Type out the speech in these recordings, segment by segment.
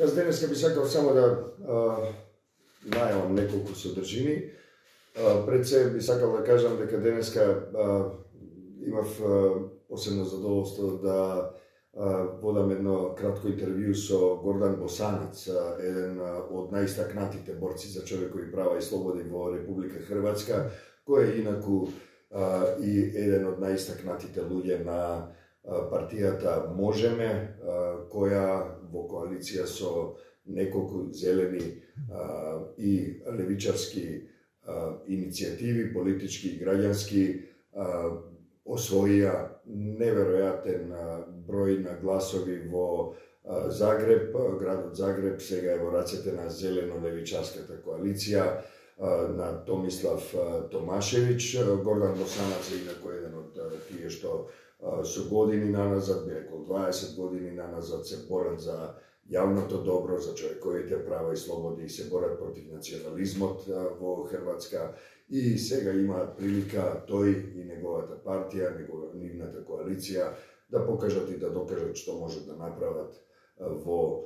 Јас денеска би сакал само да најавам неколку содржини. Пред се би сакал да кажам дека денеска имав посебно задоволство да водам едно кратко интервју со Гордан Босанец, еден од најистакнатите борци за човекови права и слободи во Република Хрватска, кој е инаку и еден од најистакнатите луѓе на партијата Можеме, која во коалиција со неколку зелени и левичарски иницијативи, политички и граѓански, освоија неверојатен број на гласови во Загреб. Градот Загреб сега е во рацете на зелено-левичарската коалиција, на Томислав Томашевич. Гордан Босанец е инако еден од тие што со години наназад, би рекол 20 години наназад, се борат за јавното добро, за човековите права и слободи, и се борат против национализмот во Хрватска. И сега имаат прилика тој и неговата партија, нивната коалиција, да покажат и да докажат што можат да направат во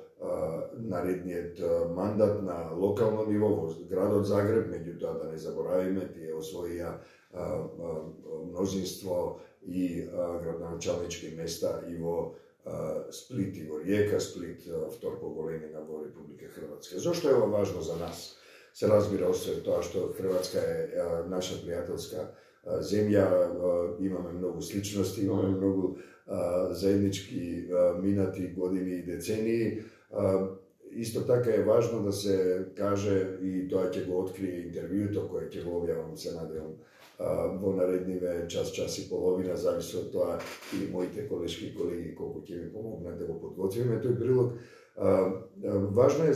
наредниот мандат на локално ниво во градот Загреб. Меѓутоа да не заборавиме, тие освоија мнозинство и градоначалнички места и во Сплит и во Риека. Сплит втор по големина во Република Хрватска. Зошто е ова важно за нас? Се разбира, освен тоа што Хрватска е наша пријателска земја, имаме многу сличности, имаме многу заеднички минати години и децении. Исто така е важно да се каже, и тоа ќе го открие интервјуто кое ќе го објавам, се надевам, во наредниве час и половина, зависи од тоа и моите колешки и колеги колку ќе ми помогнат да го подготвиме тој прилог. Важно е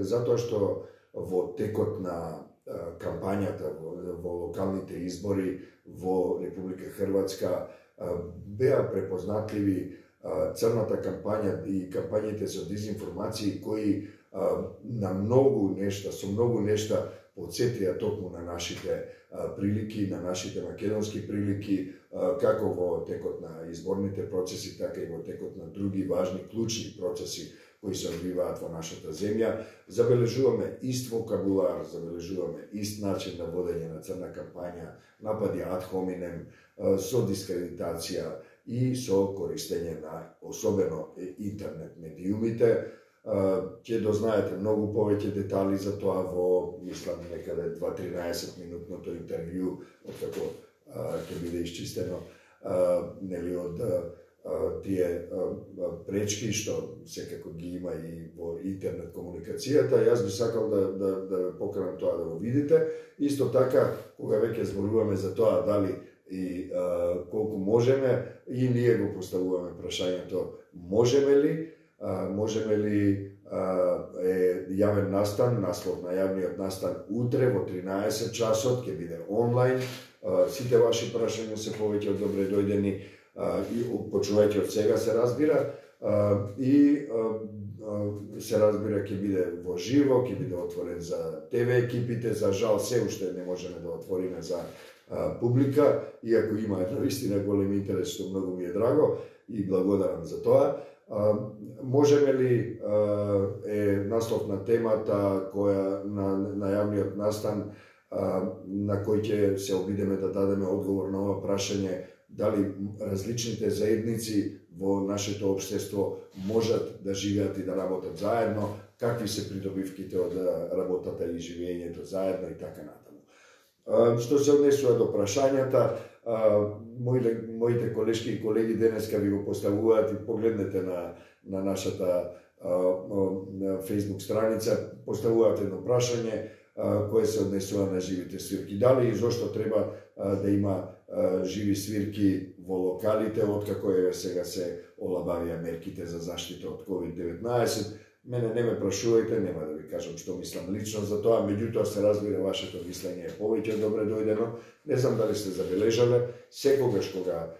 затоа што во текот на кампањата во локалните избори во Република Хрватска беа препознатливи црната кампања и кампањите за дезинформации кои на многу нешта, со многу нешта подсетија токму на нашите прилики, на нашите македонски прилики, како во текот на изборните процеси, така и во текот на други важни, клучни процеси кои се одвиваат во нашата земја. Забележуваме ист вокабулар, забележуваме ист начин на водење на црна кампања, напади ад хоминем, со дискредитација и со користење на особено интернет медиумите. Ќе дознаете многу повеќе детали за тоа во, мислам, некаде 2-13 минутното интервју, откако ќе биде исчистено нели од тие пречки што секако ги има и во интернет комуникацијата. Јас би сакал да поканам тоа да го видите. Исто така, кога веќе зборуваме за тоа дали и колку можеме, и ние го поставуваме прашањето можеме ли е јавен настан, наслов на јавниот настан утре во 13 часот, ќе биде онлайн. Сите ваши прашања се повеќе од добре дојдени и почувајќи од сега, се разбира, и се разбира ќе биде во живо, ќе биде отворен за ТВ екипите. За жал се уште не можеме да отвориме за публика, иако има наистина голем интерес, што многу ми е драго и благодарам за тоа. Можеме ли е наслов на темата која на јавниот настан, на кој ќе се обидеме да дадеме одговор на ова прашање, дали различните заедници во нашето општество можат да живеат и да работат заедно, какви се придобивките од работата и живењето заедно и така натаму. Што се однесува до прашањата, моите колешки и колеги денеска ви го поставуваат, и погледнете на нашата Facebook страница, поставуваат едно прашање кое се однесува на живите свирки. Дали и зошто треба да има живи свирки во локалите, откако сега се олабавија мерките за заштита од COVID-19. Мене не ме прашувајте, нема да ви кажам што мислам лично за тоа, меѓутоа се разбира вашето мислење е повеќе добре дојдено. Не знам дали сте забележале, секогаш кога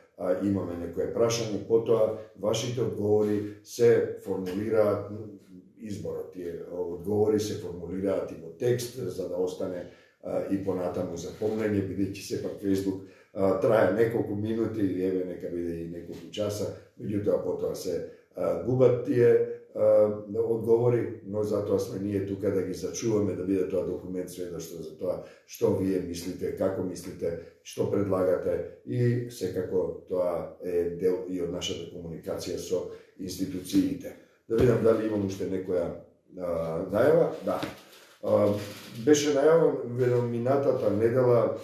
имаме некое прашање, потоа вашите одговори се формулираат, изборот тие одговори се формулираат и во текст, за да остане и понатаму запомнење, бидејќи сепак Facebook трае неколку минути или еве нека биде и неколку часа, меѓутоа потоа се губат тие одговори, но затоа сме ние тука да ги зачуваме, да биде тоа документ сведоштво за тоа што вие мислите, како мислите, што предлагате и секако тоа е дел и од нашата комуникација со институциите. Да видам дали имам уште некоја најава. Да. Беше најавен минатата недела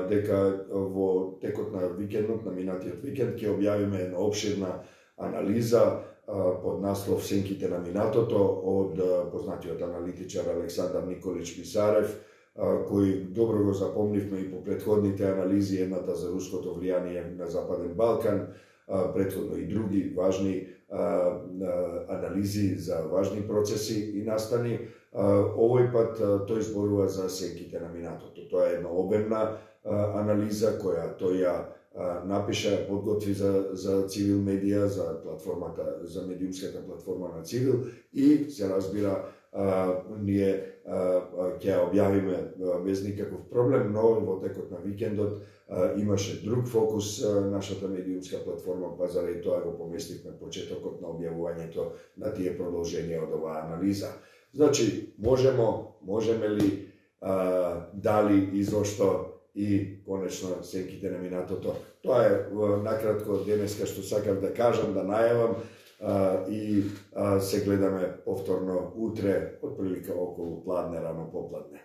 дека во текот на викендот, на минатиот викенд, ќе објавиме една обширна анализа под наслов Сенките на минатото од познатиот аналитичар Александар Николич Писарев, кој добро го запомнивме и по предходните анализи, едната за руското влијание на Западен Балкан, предходно и други важни анализи за важни процеси и настани. Овој пат тој зборува за сенките на минатото. Тоа е една обемна анализа која тој ја напиша, подготви за Цивил медија, за платформата, за медиумската платформа на Цивил и се разбира ние ќе ја објавиме без никаков проблем, но во текот на викендот имаше друг фокус нашата медиумска платформа, па заради тоа го поместивме почетокот на објавувањето на тие продолженија од оваа анализа. Значи, можеме ли, дали и зошто и конечно сенките на минатото. Тоа е накратко денеска што сакав да кажам, да најавам и се гледаме повторно утре, отприлика околу пладне, рано попладне.